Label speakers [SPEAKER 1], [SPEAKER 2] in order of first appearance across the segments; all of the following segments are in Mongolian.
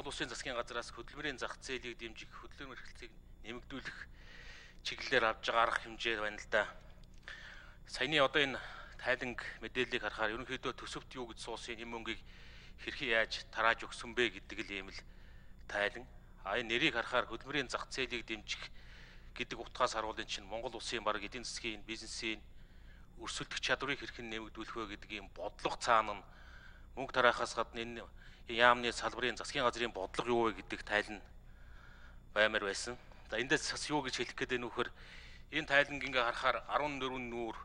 [SPEAKER 1] Монгол Улсын засгийн газраас хөдөлмөрийн зах зээлийг дэмжих хөдөлмөр эрхлэлийг нэмэгдүүлэх чиглэлээр авж байгаа арга хэмжээ байна л да. Саяны одоо энэ тайланг мэдээллийг харахаар ерөнхийдөө төсөвт юу гэж суусан энэ мөнгийг хэрхэн яаж тарааж өгсөн бэ гэдэг л юм л тайлан. Энэ нэрийг харахаар хөдөлмөрийн зах зээлийг дэмжих гэдэг утгаас харуулын чинь Монгол Улсын баг эдийн засгийн бизнесийн өрсөлдөх чадварыг хэрхэн нэмэгдүүлэх вэ гэдэг ийм бодлого цаана нь мөнгө тараахаас гадна энэ яамны салбарын засгийн газрын бодлого юу вэ гэдэг тайлан баймаар байсан. За эндээс бас юу гэж хэлэх гээд байна вөхөр энэ тайланг ингээ харахаар 14 нүүр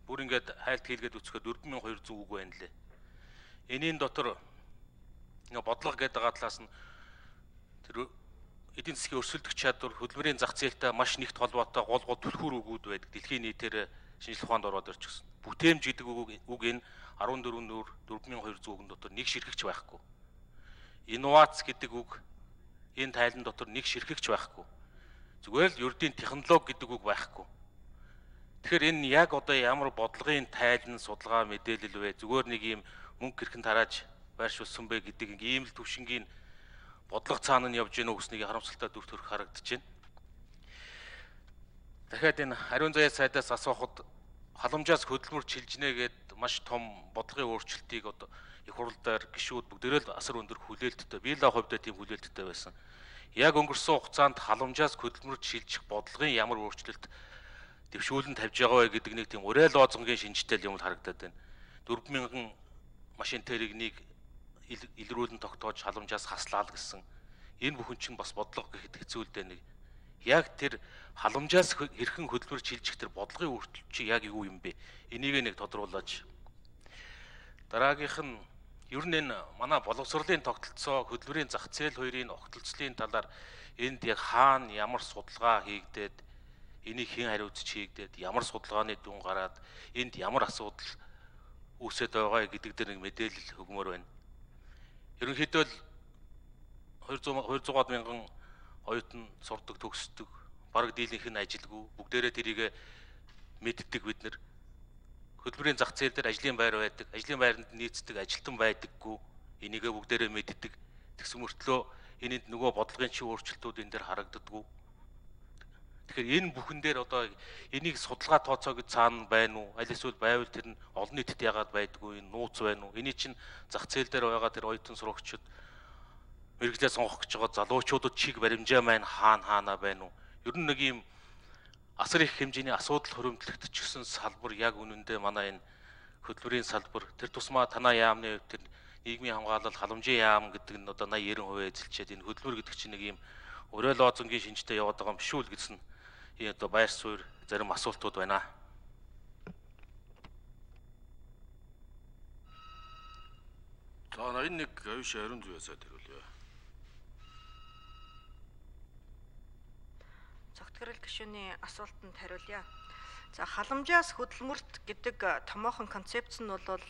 [SPEAKER 1] бүр ингээд хайлт хийлгээд үцхэд 4200 үг байна лээ. Энийн дотор ингээ бодлого гэдэг байгаа талаас нь тэр эдийн засгийн өрсөлдөх чадвар хөдөлмөрийн зах зээлтэй маш нэгт холбоотой гол түлхүүр үгүүд байдаг. Дэлхийн нийтээр шинжилгээ ухаанд ороод ирчихсэн. Бүтээмж гэдэг үг энэ 14 нүүр 4200 үгэн дотор нэг ширхэгч байхгүй. Инновац гэдэг үг энэ тайлан дотор нэг ширхэгч байхгүй. Зүгээр л ердийн технологи гэдэг үг байхгүй. Тэгэхээр энэ яг одоо ямар бодлогын тайлан судалгаа мэдээлэл вэ? Зүгээр нэг юм мөнгө хэрхэн тарааж байршуулсан бэ гэдэг ийм л төвшингийн бодлого цаана нь явж гэнэ үгснийг харамсалтай дүр төрх харагдаж байна. Дахиад энэ ариун заяа сайдаас асуухад халамжаас хөдөлмөр чилжнэ гэд маш том бодлогын өөрчлөлтийг одоо их хурлаар гишүүд бүгдээрээ л асар өндөр хүлээлттэй. Би л хувьдаа тийм хүлээлттэй байсан. Яг өнгөрсөн хугацаанд халамжаас хөдөлмөр чилжих бодлогын ямар өөрчлөлт дэвшүүлэн тавьж байгаа вэ гэдэг нэг тийм урай лозунгийн шинжтэй юм харагдаад байна. 4000 машин тэрэгнийг илрүүлэн тогтоож халамжаас хаслаа л гэсэн. Энэ бүхэн чинь бас бодлого гэхэд хэцүү л дээ нэг. Яг тэр халамжаас хэрхэн хөдөлмөр чилжих тэр бодлогын өөрчлөлт чи яг юу юм бэ? Энийг нэг тодруулаач. Дараагийнх нь ер нь энэ манай боловсролын тогтолцоо хөдөлмөрийн зах зээл хоёрын огтлцлын талаар энд яг хаана ямар судалгаа хийгдээд энийг хэн хариуцж хийгдээд ямар судалгааны дүн гараад энд ямар асуудал үүсэж байгаа гэдэг дээр нэг мэдээлэл өгмөр байна. Ерөнхийдөө л 200 мянган оюутан сурдаг төгсдөг бараг дийлэнх нь ажилгүй бүгдээрээ тэрийг мэддэг бид нар хөдөлмөрийн зах зээл дээр ажлын байр байдаг ажлын байранд нийцдэг ажилтан байдаггүй энийг бүгдээрээ мэддэг тэгсэн мөртлөө энэнд нөгөө бодлогын чи өөрчлөлтүүд энэ дээр харагддаггүй. Тэгэхээр энэ бүхэн дээр одоо энийг судалгаа тооцоо гэж цаана байна уу аль эсвэл байвал тэр нь олон нийтэд яагаад байдаггүй энэ нууц байна уу эний чинь зах зээл дээр байгаа тэр оюутан сурагчид мэрэгжлээ сонгох гэж байгаа залуучуудад чиг баримжаа маань хаана байна уу? Ер нь нэг юм асар их хэмжээний асуудал хоригдлогдчихсэн салбар яг үнэндээ манай энэ хөдөлмөрийн салбар тэр тусмаа танаа яамны хувьд тэр нийгмийн хамгаалал халамжийн яам гэдэг нь одоо 80-90% эзэлчихэд энэ хөдөлмөр гэдэг чинь нэг юм урай лозунгийн шинжтэй яваад байгаа юм биш үү гэсэн энэ одоо байр суурь зарим асуултууд байна.
[SPEAKER 2] За энэ нэг авиш ариун зүйн сайд хариулъя.
[SPEAKER 3] Цогтгөрөл гишүүний асуултанд хариулъя. За халамжаас хөдөлмөрт гэдэг томоохон концепц нь бол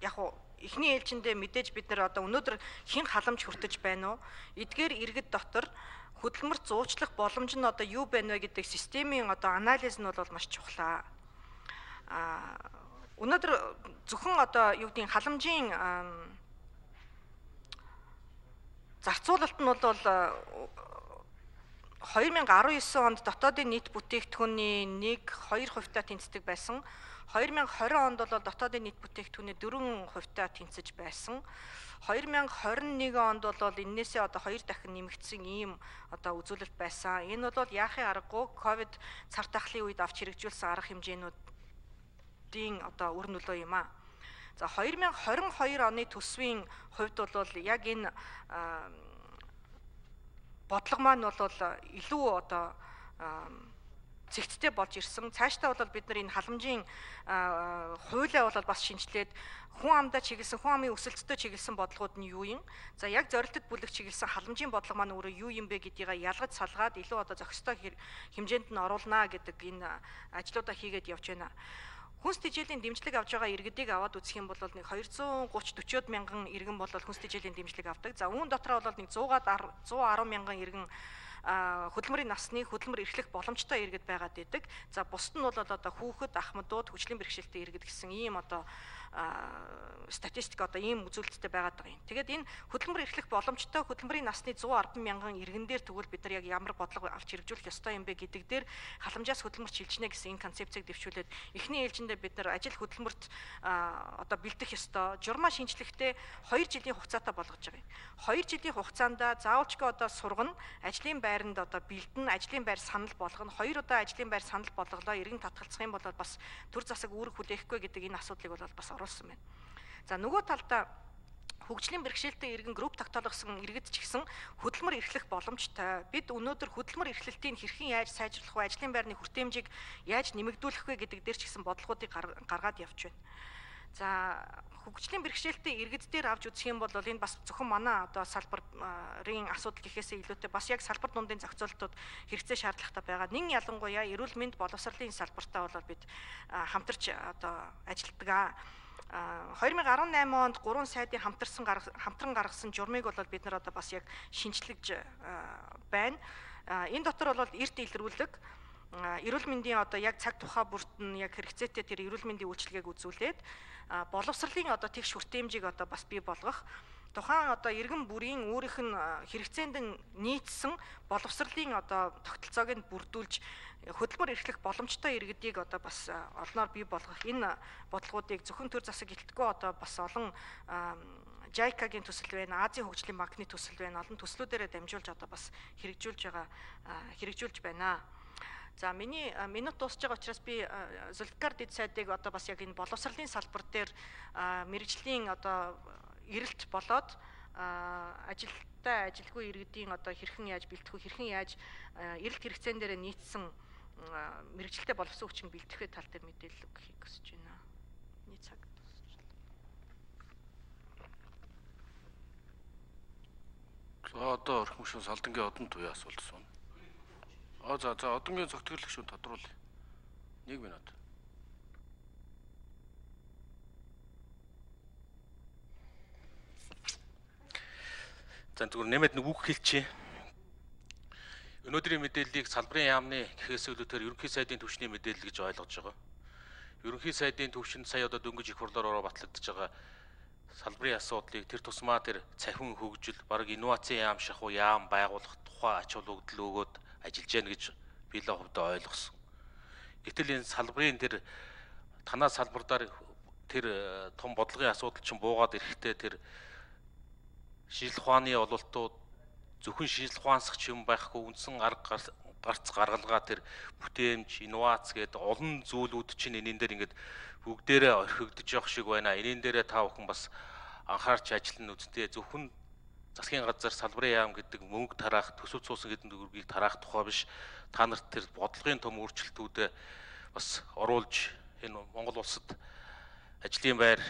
[SPEAKER 3] яг уу эхний ээлжиндээ мэдээж бид нар одоо өнөөдөр хэн халамж хүртэж байна уу? Эдгээр иргэд дотор хөдөлмөрт зуучлах боломж нь одоо юу байна вэ гэдэг системийн одоо анализ нь бол маш чухлаа. Өнөөдөр зөвхөн одоо юу гэдгийг халамжийн зарцуулалт нь бол 2019 онд дотоодын нийт бүтээгдэхүүний 1-2% тэнцдэг байсан. 2020 онд бол дотоодын нийт бүтээгдэхүүний 4% тэнцэж байсан. 2021 онд бол энээсээ одоо 2 дахин нэмэгдсэн ийм одоо үзүүлэлт байсан. Энэ бол яахын аргагүй ковид цар тахлын үед авч хэрэгжүүлсэн арга хэмжээнүүдийн одоо үр нөлөө юм а. За 2022 оны төсвийн хувьд бол яг энэ бодлого маань бол илүү одоо зэгцтэй болж ирсэн. Цаашдаа бол бид нар энэ халамжийн хуулиа бол бас шинжилээд хүн амдаа чиглэсэн, хүн амын өсөлтөд чиглэсэн бодлогууд нь юу юм? За яг зорилтод бүлэг чиглэсэн халамжийн бодлого маань өөрөө юу юм бэ гэдгийг ялгаж салгаад илүү одоо зохистой хэмжээнд нь оруулнаа гэдэг энэ ажлуудаа хийгээд явж байна. Хүнс тэжээлийн дэмжлэг авж байгаа иргэдийг аваад үзэх юм бол нэг 230-40 мянган иргэн бол хүнс тэжээлийн дэмжлэг авдаг. За үүн дотроо бол нэг 110 мянган иргэн хөдөлмөрийн насны хөдөлмөр эрхлэх боломжтой иргэд байгаад идэг. За бусд нь бол одоо хүүхэд, ахмадууд, хүчлийн бэрхшээлтэй иргэд гэсэн ийм одоо статистик одоо ийм үзүүлэлттэй байгаад байгаа юм. Тэгээд энэ хөдөлмөр эрхлэх боломжтой хөдөлмөрийн насны 110 мянган иргэн дээр тэгвэл бид нар яг ямар бодлого авч хэрэгжүүлэх ёстой юм бэ гэдэг дээр халамжаас хөдөлмөр чилжнэ гэсэн энэ концепцийг дэвшүүлээд эхний ээлжиндээ бид нар ажил хөдөлмөрт одоо бэлдэх ёстой. Журмаа шинжлэхдээ 2 жилийн хугацаатай болгож байгаа юм. 2 жилийн хугацаанд заавалчгүй одоо сургана, ажлын байранд одоо бэлдэн, ажлын байр санал болгоно. 2 удаа ажлын байр санал болголоо, иргэн татгалзах юм бол бас төр засаг үүрэг хүлээхгүй гэдэг энэ асуудлыг бол бас оруулсан байна. За нөгөө талдаа хөгжлийн бэрхшээлтэй иргэн групп тогтоолгосон иргэд ч гэсэн хөдөлмөр эрхлэх боломжтой. Бид өнөөдөр хөдөлмөр эрхлэлтийг хэрхэн яаж сайжруулах вэ? Ажлын байрны хүртээмжийг яаж нэмэгдүүлэх вэ гэдэг дээр ч гэсэн бодлогуудыг гаргаад явж байна. За хөгжлийн бэрхшээлтэй иргэд дээр авч үзэх юм бол энэ бас зөвхөн манай одоо салбарын асуудал гэхээсээ илүүтэй бас яг салбар дундын зохицуултууд хэрэгцээ шаардлагатай байгаа. Нин ялангуяа эрүүл мэнд боловсролын салбартаа бол бид хамтарч одоо ажилтдаг. 2018 онд 3 сайдын хамтран гаргасан журмыг бол бид нар одоо бас яг шинжлэж байна. Энэ дотор бол эрт илрүүлэг, эрүүл мэндийн одоо яг цаг тухай бүрт нь яг хэрэгцээтэй тэр эрүүл мэндийн үйлчилгээг үзүүлээд боловсролын одоо тэгш хүртээмжийг одоо бас бий болгох, тухайн одоо иргэн бүрийн өөрийнх нь хэрэгцээнд нийцсэн боловсролын одоо тогтолцоог нь бүрдүүлж хөдөлмөр эрхлэх боломжтой иргэдийг одоо бас олноор бий болгох энэ бодлогуудыг зөвхөн төр засаг гэлтгүй одоо бас олон JICA-гийн төсөл байна, Азийн хөгжлийн банкны төсөл байна, олон төслүүдээрээ дамжуулж одоо бас хэрэгжүүлж байна. За миний минут дуусж байгаа учраас би Зульфикар дэд сайдыг одоо бас яг энэ боловсролын салбар дээр мэрэгжлийн одоо эрэлт болоод ажилтай ажилгүй иргэдийн одоо хэрхэн яаж бэлтгэх вэ, хэрхэн яаж эрэлт хэрэгцээн дээр нийцсэн мэрэгжилтэй боловсон хүчин бэлтгэх тал дээр мэдээлэл өгөхийг хүсэж байна. Миний цаг дуусчихлаа.
[SPEAKER 2] За одоо орхим шин салдангийн одон туяа асуулт асууна. За одонгийн зөвтгөрлөх шин тодруулъя. 1 минут.
[SPEAKER 1] За зүгээр нэмээд нэг үг хэлчихье. Өнөөдрийн мэдээллийг салбарын яамны гэхээс илүүтэйгээр ерөнхий сайдын түвшний мэдээлэл гэж ойлгож байгаа. Ерөнхий сайдын түвшинд сая одоо дөнгөж их хурлаар батлагдж байгаа салбарын асуудлыг тэр тусмаа тэр цахим хөгжил, бараг инновацийн яам шахуу яам байгуулах тухай ач холбогдол өгөөд ажиллаж яана гэж би л хувьдаа ойлгосон. Гэтэл энэ салбарын тэр танаа салбараар тэр том бодлогын асуудал чинь буугаад ирэхдээ тэр шинжилх ухааны ололтууд зөвхөн шинжилх ухаансагч юм байхгүй, үндсэн гарц гаргалгаа тэр бүтээмж, инновац гэдэг олон зүйлүүд чинь энэн дээр ингээд бүгдээрээ орхигдож явах шиг байна. Энэн дээрээ та бүхэн бас анхаарч ажиллана үсттэй. Зөвхөн засгийн газар салбарын яам гэдэг мөнгө тараах, төсөв цуусан гэдэг үргийг тараах тухай биш. Та нарт тэр бодлогын том өөрчлөлтүүдэд бас оруулж энэ Монгол улсад ажлын байр